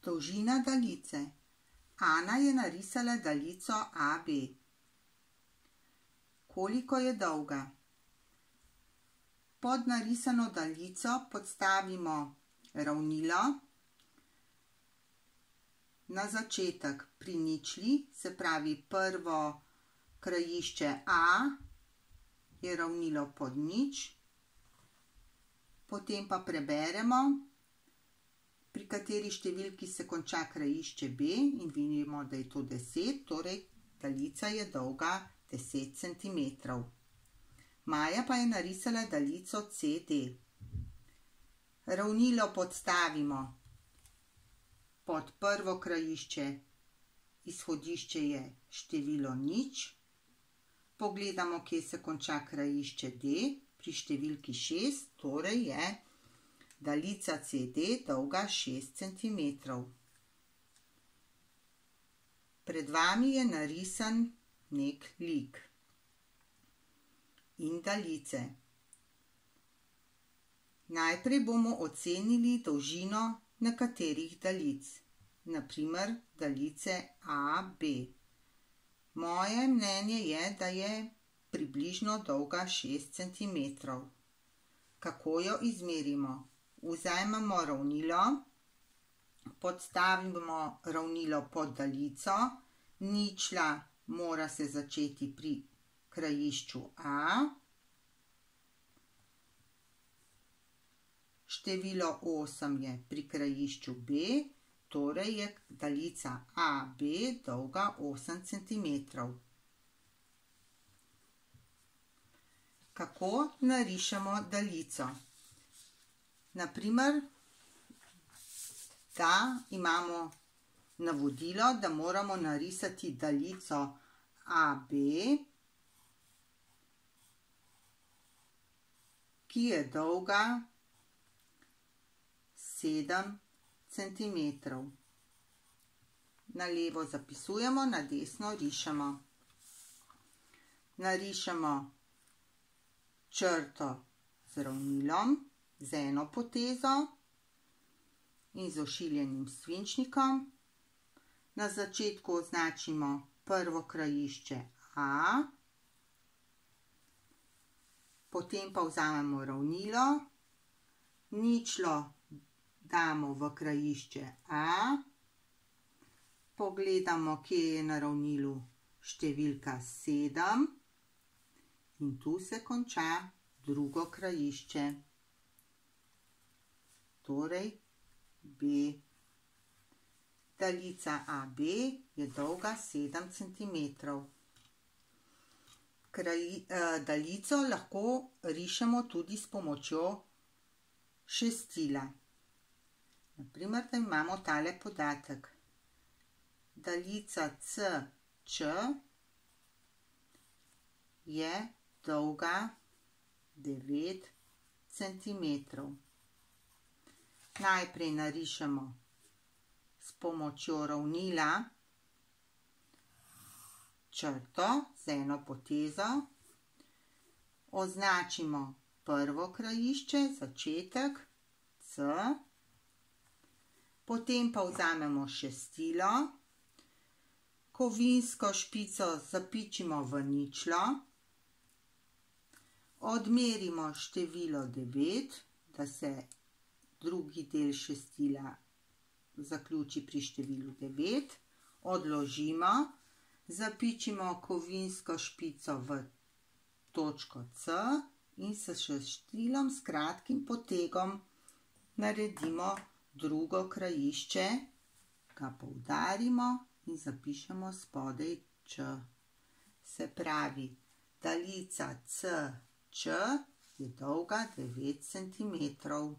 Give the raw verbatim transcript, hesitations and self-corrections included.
Dolžina daljice. Ana je narisala daljico A B. Koliko je dolga? Pod narisano daljico podstavimo ravnilo. Na začetek pri ničli, se pravi prvo krajišče A je ravnilo pod nič. Potem pa preberemo, pri kateri številki se konča krajišče B in vidimo, da je to deset, torej daljica je dolga deset centimetrov. Maja pa je narisala daljico C D. Ravnilo podstavimo pod prvo krajišče, izhodišče je število nič. Pogledamo, kje se konča krajišče D, pri številki šest, torej je daljica C D dolga šest centimetrov. Pred vami je narisan nek lik in daljice. Najprej bomo ocenili dolžino nekaterih daljic, na primer daljice A B. Moje mnenje je, da je približno dolga šest centimetrov. Kako jo izmerimo? Vzamemo ravnilo, podstavimo ravnilo pod daljico, ničla mora se začeti pri krajišču A, število osem je pri krajišču B, torej je daljica A B dolga osem centimetrov. Kako narišemo daljico? Naprimer, da imamo navodilo, da moramo narisati daljico A B, ki je dolga sedem centimetrov. Na levo zapisujemo, na desno rišemo. Narišemo črto z ravnilom, z eno potezo in z ošiljenim svinčnikom. Na začetku označimo prvo krajišče A, potem pa vzamemo ravnilo, ničlo damo v krajišče A, pogledamo, kje je na ravnilu številka sedem in tu se konča drugo krajišče, torej B. Daljica A B je dolga sedem centimetrov. Daljico lahko rišemo tudi s pomočjo šestila. Naprimer, da imamo tale podatek. Daljica C Č je dolga devet centimetrov. Najprej narišemo s pomočjo ravnila črto z eno potezo, označimo prvo krajišče, začetek C, potem pa vzamemo šestilo, kovinsko špico zapičimo v ničlo, odmerimo število devet, da se drugi del šestila zaključi pri številu devet, odložimo, zapičimo kovinsko špico v točko C in s šestilom s kratkim potegom naredimo drugo krajišče, ga poudarimo in zapišemo spodaj Č. Se pravi, daljica C Č je dolga devet centimetrov.